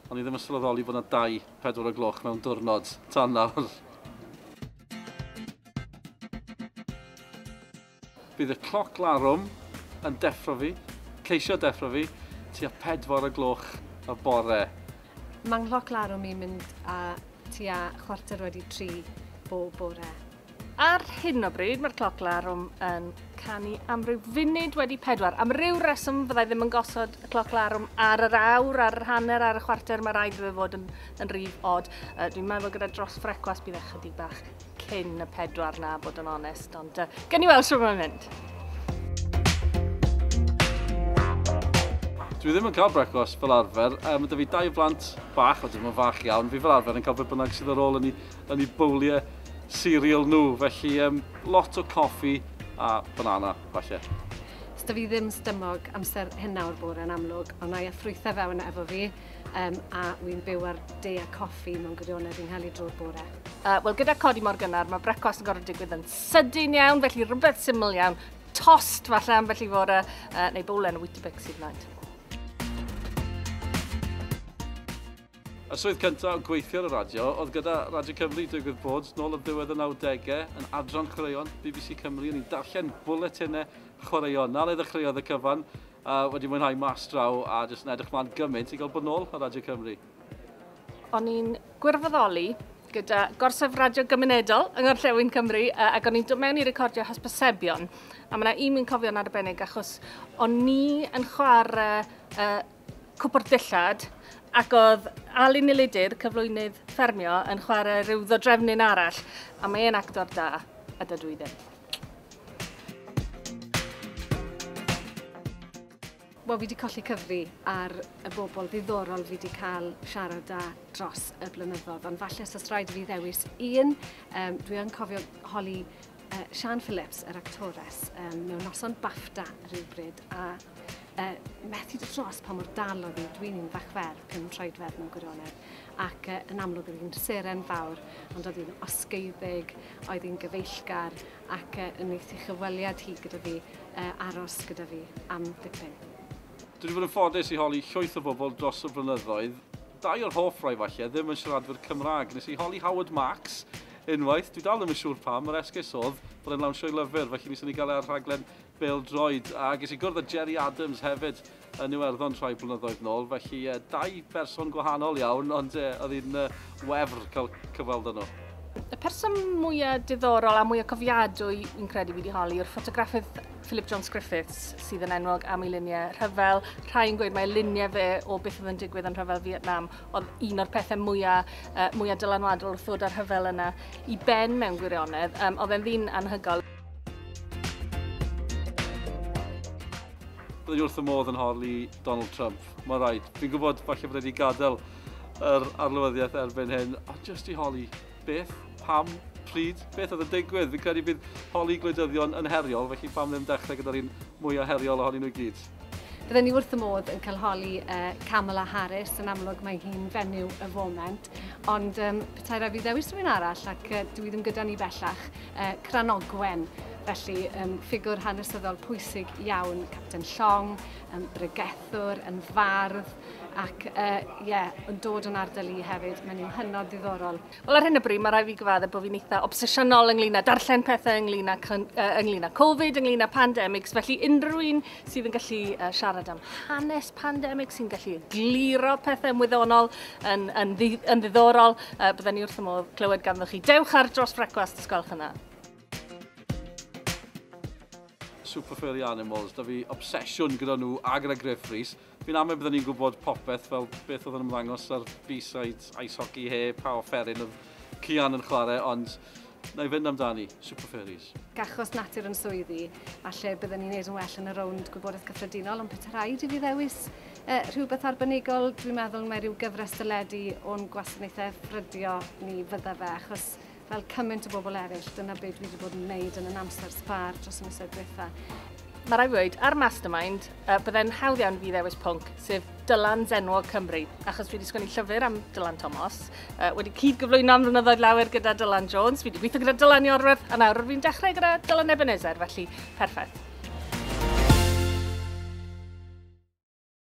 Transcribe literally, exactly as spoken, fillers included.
O'n i ddim yn sylweddoli bod yna dau pedwar o gloch mewn diwrnod tan nawr. Bydd y cloc larwm yn deffro fi, ceisio deffro fi, tua pedwar o gloch y bore. Mae'n nghloc larwm i'n mynd a tua chwarter wedi tri bob bore. Ar hyn o bryd, mae'r cloc larwm yn canu am ryw funud wedi pedwar. Am ryw reswm fyddai ddim yn gosod y cloc larwm ar yr awr, ar yr hanner, ar y chwarter. Mae rhaid iddo fod yn, yn rif od. Uh, dwi'n meddwl gyda dros frecwast bydd ychydig bach cyn y pedwar na, bod yn onest. Ond uh, gen i weld sut mae'n mynd. Dwi ddim yn cael brecwast fel arfer. Um, mae 'da fi dau blant bach, o ddim yn fach iawn. Fi fel arfer yn cael beth bynnag sydd ar ôl yn ei, yn ei bowliau cereal nhw, felly um, lot o coffi a banana, falle. Sda fi ddim stymog amser hynna o'r bore yn amlwg, ond na i a ffrwythau fewn efo fi, um, a wy'n byw ar de a coffi mewn gwirionedd fi'n cael ei drwy'r bore. Uh, Wel, gyda codi mor gynnar, mae brecwast yn gorfod digwydd yn sydyn iawn, felly rhywbeth syml iawn, tost falle ambell i fore, uh, neu bowlen o Weetabix hyd yn oed. Y swydd cyntaf o gweithio ar y radio oedd gyda Radio Cymru, digwydd bod, nôl ar ddiwedd y nawdegau, yn adran chwaraeon B B C Cymru, o'n i'n darllen bwletinau chwaraeon. Na le ddechreuodd y cyfan, a wedi mwynhau mas draw a jyst yn edrych mlaen gymaint i gael bod nôl ar Radio Cymru. O'n i'n gwirfoddoli gyda gorsaf radio gymunedol yng Ngorllewin Cymru, ac o'n i'n dod mewn i recordio hysbysebion. A mae yna un fi'n cofio'n arbennig achos o'n i yn chwarae uh, cwpwrdd dillad, ac oedd Alun Elidyr, cyflwynydd ffermio, yn chwarae rhyw ddodrefnyn arall, a mae e'n actor da, a dydw i ddim. Wel, fi wedi colli cyfri ar y bobl ddiddorol fi wedi cael siarad â dros y blynyddoedd, ond falle os oes rhaid i fi ddewis un, um, dwi yn cofio holi uh, Sian Phillips, yr actores, um, mewn noson BAFTA rhywbryd, a Uh, methu dod dros pa mor dal oedd hi. Dwi'n un fach fer, pum troedfedd mewn gwirionedd, ac uh, yn amlwg oedd hi'n seren fawr, ond oedd hi'n osgeiddig, oedd hi'n gyfeillgar, ac uh, yn wneud ei chyfweliad hi gyda fi, uh, aros gyda fi am dipyn. Dwi wedi bod yn ffodus i holi llwyth o bobl dros y blynyddoedd. Dau o'r hoff rai falle ddim yn siaradwyr Cymraeg. Nes i holi Howard Marks unwaith, dwi dal ddim yn siŵr pam, yr esgus oedd bod e'n lawnsio'i lyfr, felly nes i gael e ar rhaglen bêl-droed, a ges i gwrdd â Gerry Adams hefyd yn Iwerddon rhai blynyddoedd nôl, felly eh, dau berson gwahanol iawn, ond eh, oedd hi'n eh, wefr cael cyfweld â nhw. Y person mwyaf diddorol a mwyaf cofiadwy fi'n credu fi wedi holi yw'r ffotograffydd Philip Jones Griffiths, sydd yn enwog am ei luniau rhyfel. Rhai yn gweud mai luniau fe o beth oedd yn digwydd yn rhyfel Vietnam oedd un o'r pethau mwyaf, uh, mwyaf dylanwadol wrth ddod â'r rhyfel yna i ben mewn gwirionedd. Um, oedd e'n ddyn anhygoel. Byddwn i wrth y modd yn holi Donald Trump. Mae rhaid. Fi'n gwybod falle bod wedi gadael yr arlywyddiaeth erbyn hyn, ond jyst i holi beth, pam, pryd, beth oedd yn digwydd. Fi'n credu bydd holi gwleidyddion yn heriol, felly pam ddim dechrau gyda'r un mwyaf heriol ohonyn nhw i gyd. Bydden ni wrth y modd yn cael holi uh, Kamala Harris, yn amlwg mae hi'n fenyw y foment, ond um, petai rhaid fi ddewis rhywun arall, ac uh, dwi ddim gyda ni bellach, uh, Cranogwen, felly um, ffigwr hanesyddol pwysig iawn, Capten Llong, um, bregethwr, yn fardd, ac uh, yeah, yn dod yn ardal i hefyd, mae'n un hynod ddiddorol. Wel, ar hyn o bryd, mae rhaid fi gyfadde bod fi'n eitha obsesiynol ynglyn â darllen pethau ynglyn â, uh, ynglyn â Covid, ynglyn â pandemics, felly unrhyw un sydd yn gallu uh, siarad am hanes pandemig, sy'n gallu egluro pethau wyddonol yn, yn, ddi, yn ddiddorol, uh, bydden ni wrth y modd clywed ganddo chi. Dewch ar dros frecwast, os gwelwch yna. Super Furry Animals, da fi obsesiwn gyda nhw a gyda Griff Rhys. Fi'n amau byddwn ni'n gwybod popeth fel beth oedd yn ymddangos ar B-side Ice Hockey he, pa offeryn oedd Cian yn chwarae, ond na i fynd amdani, Super Furries. Achos natur yn swyddi, falle byddwn ni'n neud yn well yn y rownd gwybodaeth gyffredinol, ond petai rhaid i fi ddewis eh, rhywbeth arbenigol, dwi'n meddwl mae rhyw gyfres deledu o'n gwasanaethau ffrydio ni fydda fe, achos fel cymaint o bobl eraill, dyna beth dwi wedi bod yn wneud yn yn amser sbar dros y misoedd diwetha. Mae rhaid fi weud, ar Mastermind, uh, byddai'n hawdd iawn fi ddewis pwnc, sef Dylan Zenwog Cymru, achos dwi wedi sgwennu llyfr am Dylan Thomas, uh, wedi cyd-gyflwyno am flynyddoedd lawer gyda Dylan Jones, fi wedi gweithio gyda Dylan Iorwerth, a nawr fi'n dechrau gyda Dylan Ebenezer, felly perffaith.